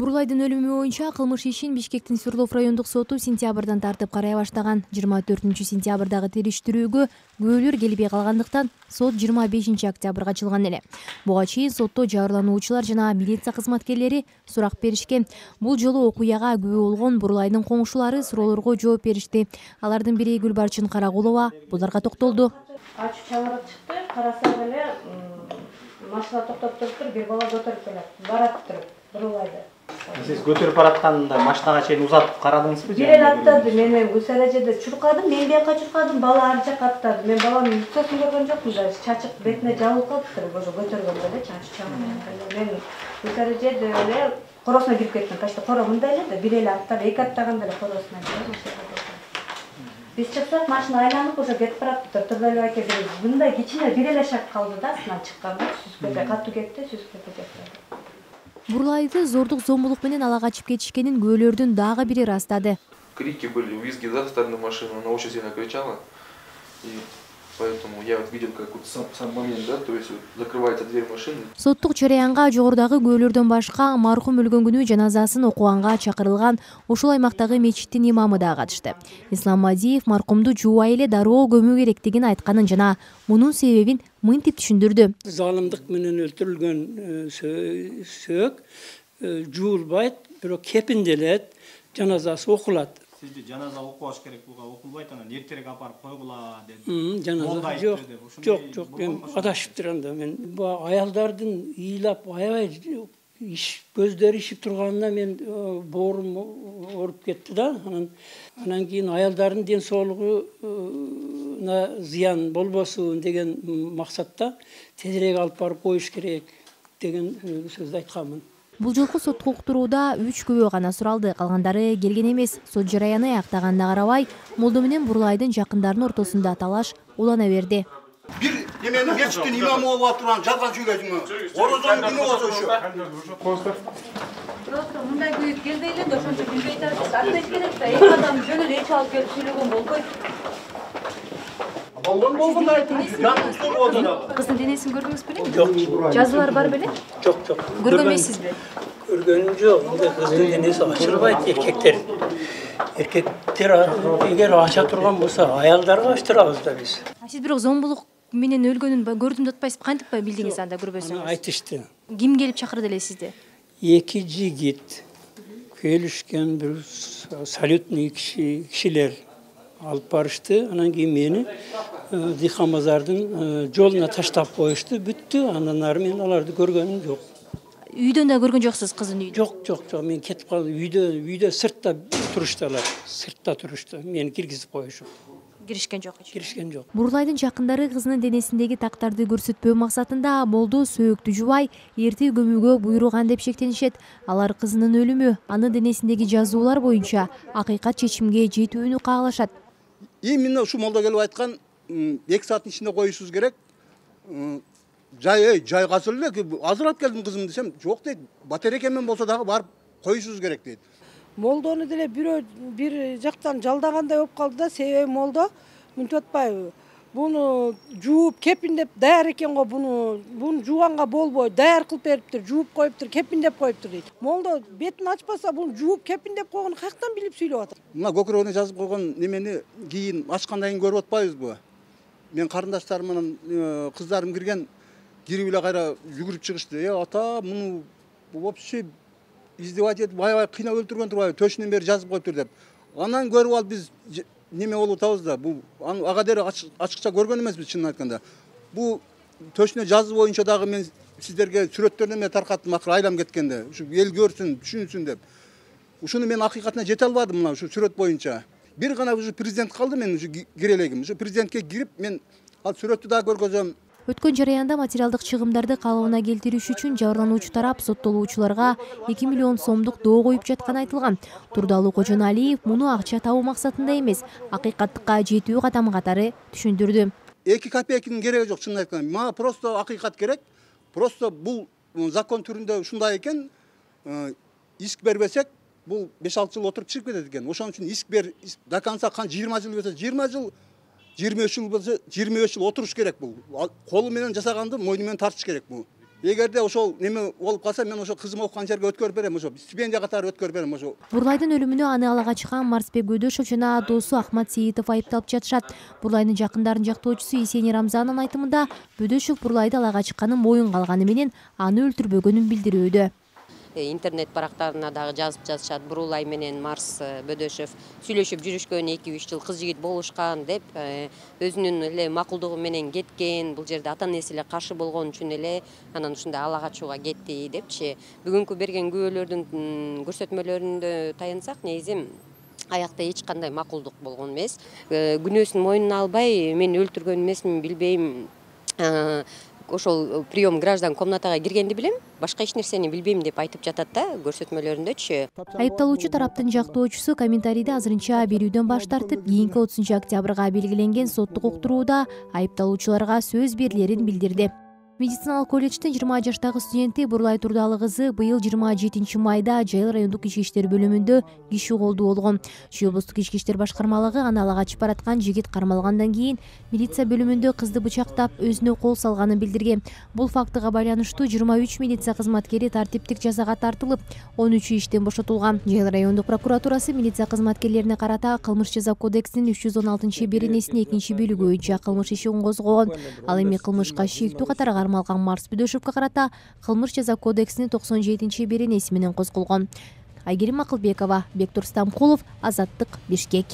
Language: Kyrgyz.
Бурлайдын өлүмү боюнча кылмыш ишин Бишкектин Свердлов райондук соту сентябрдан тартып карай баштаган. 24-сентябрдагы териштирүүгө күбөлөр келбей калгандыктан сот 25-октябрга ачылган эле. Буга чейин сотто жабырлануучулар жана милиция кызматкерлери сурак беришкен. Бул жолу окуяга күбө болгон Бурлайдын коңшулары суроолорго жооп беришти. Алардын бири Гүлбарчын Карагулова буларга токтолду. Ачып чалырып чыкты, караса эле машина токтоп туруптур, бир бала көтөрүп келет. Бараттыр Бурлайды. Сиз көтөрүп баратканда машинага чейин узатып карадыңызбы? Бир эле аттады, мени Гүлсаражеде чуркадым, мен бияка чуркадым, бала ар жака аттады. Мен баланын үстөсүн көргөн жокмун да, чачык бетине жабылып калыптыр, ошо көтөргөндө эле чачып чалган. Мен Гүлсаражеде эле коросуна кирип кеттим. Почти коро мындай эле да, бир эле аттап, эки аттаганда эле коросуна кирип. Биз чыксак, машина айланып ошо кетип бараптыр. Турдалиев аке мындай кичине бир эле шаг калды да, астынан чыкканда, сүзгөдө катуу кетти, сүзгөдө кетти. Бурлайды зордук зомбулук менен ала качып кетишкенин күбөлөрдүн дагы бири ырастады. Крики были, визги за стороны машины, она очень сильно кричала. И поэтому я видел какой-то сам момент, да, то есть закрывается дверь машины. Соттук жараянга жогорудагы күбөлөрдөн башка маркум өлгөн күнү жаназасын окуганга чакырылган ушул аймактагы мечиттин имамы да катышты. Ислам Мадиев маркумду жуубай эле дароо көмүү керектигин айтканын жана мунун себебин мынтип түшүндүрдү. Залымдык менен өлтүрүлгөн сөөк жуулбайт, бирок кепинделет, жаназасы окулат. Сизде жаназа окубаш керек буга, окулбайт, анан эртерээк апарып койгула деди. Жаназа жок, мен адашыптыр анда. Мен бу аялдардын ыйлап аябай көздөрү ишип турганына мен боорум ооруп кетти да. Анан кийин аялдардын ден соолугуна зыян болбосун деген максатта тезирээк алып барып коюш керек деген сөздү айтканмын. Бул жолку сотко уктурууда 3 күбө гана суралды, калгандары келген эмес. Сот жараяны аяктаганына карабай, Молдо менен Бурлайдын жакындарынын ортосунда талаш улана берди. Бир неменин мечиттин имамы болуп атырган жалган сүйлөйсүңбү? Орозонун күнү болсо ошо. Просто мындай күйүп келбей эле, ошончо билбей турат. Артыш керек да, эки адам жөн эле эч алып келип сүйлөгөн болбойт. Кыздын денесин көрдүңүз беле? Жок. Жазуулар бар беле? Жок. Көргөн эмессизби? Көргөнүм жок. Кыздын денеси ачылбайт, эркектер эгер ача турган болсо, аялдарга ачтырабыз да биз. Сиз бирок зомбулук менен өлгөнүн көрдүм деп атпайсызбы? Кантип билдиңиз анда көрбөсөңүз? Айтышты. Ким келип чакырды эле сизди? Эки жигит келишкен, бир салютный кишилер алып барышты. Анан кийин мени Дихан базардын жолуна таштап коюшту, бүттү. Андан ары мен аларды көргөнүм жок. Үйдөн да көргөн жоксуз кыздын үйүн? Жок. Мен кетип калдым. Үйдө сыртта турушту алар. Сыртта турушту. Мени киргизип коюшуп. Киришкен жок. Бурлайдын жакындары кызынын денесиндеги тактарды көрсөтпөө максатында Молдо сөөктү жубай, эрте көмүүгө буйруган деп шектенишет. Алар кызынын өлүмү, анын денесиндеги жазуулар боюнча акыйкат чечимге жетүүнү каалашат. Именно ушу Молдо келип айткан 2 сааттын ичинде коюшубуз керек. Жай казыл эле, азыр алып келдим кызым десем, жок дейт. Батарейка менен болсо дагы барып коюшубуз керек дейт. Молдону деле бир жактан жалдагандай болуп калды да, себеби Молдо мынтип атпайбы? Буну жууп кепиндеп даяр экен го, буну жууганга болбойт, даяр кылып бериптир, жууп коюптур, кепиндеп коюптур дейт. Молдо бетин ачпаса, буну жууп кепиндеп койгону каяктан билип сүйлөп атат? Мына көкүрөгүнө жазып койгон немени кийин ачкандан кийин көрүп атпайбызбы? Мен карындаштарым менен кыздарым кирген, кирип эле кайра жүгүрүп чыгышты. Ата, муну вообще издевать этип, аябай кыйнап өлтүргөн турбайбы? Төшүнөн бери жазып коюптур деп. Анан көрүп алып биз неме болуп атабыз да. Бул ага дере ачыкча көргөн эмеспиз, чынын айтканда. Бул төшүнө жазуу боюнча дагы мен сиздерге сүрөттөрдөн эле таркаттым, акыры айлам кеткенде. Ушу эл көрсүн, түшүнсүн деп. Ушуну мен акыйкатына жете албадым, мына ушу сүрөт боюнча. Бир гана ушу президент калды, мен ушу кирелегим. Ушу президентке кирип мен ал сүрөттү да көргөзөм. Өткөн жараянда материалдык чыгымдарды калыбына келтириш үчүн жабырлануучу тарап соттолуучуларга 2 миллион сомдук доо коюп жатканы айтылган. Турдалуу Кожоналиев муну акча табуу максатында эмес, акыйкаттыкка жетүү катамы катары түшүндүрдү. 2 копейканын кереги жок, чынын айтканда. Мага просто акыйкат керек. Просто бул закон түрүндө ушундай экен. Иск бербесек, бул 5-6 жыл отуруп чыгып кетет экен. Ошон үчүн иск бер до конца 20 жыл болсо 20 жыл, 23 жыл болсо 23 жыл отуруш керек бул. Колу менен жасаганды мойну менен тартыш керек бул. эгерде ошол неме болуп калса мен ошо кызым окуган жерге өткөрүп берем, ошо стипендия катары өткөрүп берем ошо. Бурлайдын өлүмүнө аны алага чыккан Марсбек Бөдөшов жана досу Ахмат Сейитов айыпталып жатышат. Бурлайдын жакындарынын жактоочусу Есени Рамзанын айтымында Бөдөшов Бурлайды алага чыкканын моюнга алганы менен аны өлтүрбөгөнүн билдирүүдө. Интернет барактарына дагы жазып жатышат. Бурлай менен Марс Бөдөшов сүйлөшүп жүрүшкөн, 2-3 жыл кыз жигит болушкан деп, өзүнүн эле макулдугу менен кеткен. Бул жерде ата-энеси эле каршы болгон үчүн эле анан ушундай ала качууга кетти депчи. Бүгүнкү берген күбөлөрдүн көрсөтмөлөрүндө таянсак, негизи аякта эч кандай макулдук болгон эмес. Күнөөсүн мойнуна албай, мен өлтүргөн эмесмин, билбейм. Ошол прием граждан комнатага киргенди билем, башка эч нерсени билбейм деп айтып жатат да көрсөтмөлөрүндөчү. Айыпталуучу тараптын жактоочусу комментарийди азырынча берүүдөн баш тартып, кийинки 30 октябрга белгиленген соттук уктурууда айыпталуучуларга сөз берилерин билдирди. Медициналык колледждин 20 жаштагы студенти Бурлай Турдалы кызы быйыл 27 майда Жайыл райондук ички иштер бөлүмүндө киши колдуу болгон. Чүй облустук ички иштер башкармалыгы аны ала качып бараткан жигит кармалгандан кийин милиция бөлүмүндө кызды бычактап, өзүнө кол салганын билдирген. Бул фактыга байланыштуу 23 милиция кызматкери тартиптик жазага тартылып, 13 иштен бошотулган. Жайыл райондук прокуратурасы милиция кызматкерлерине карата кылмыш жаза кодексинин 316-беренесинин 2-бөлүгү боюнча кылмыш ишин козгогон. Ал эми кылмышка шектүү катары кармалган Марс Бөдөшовго карата кылмыш жаза кодексинин 97-беренеси менен козголгон. Айгерим Акылбекова, Бектур Стамкулов, Азаттык, Бишкек.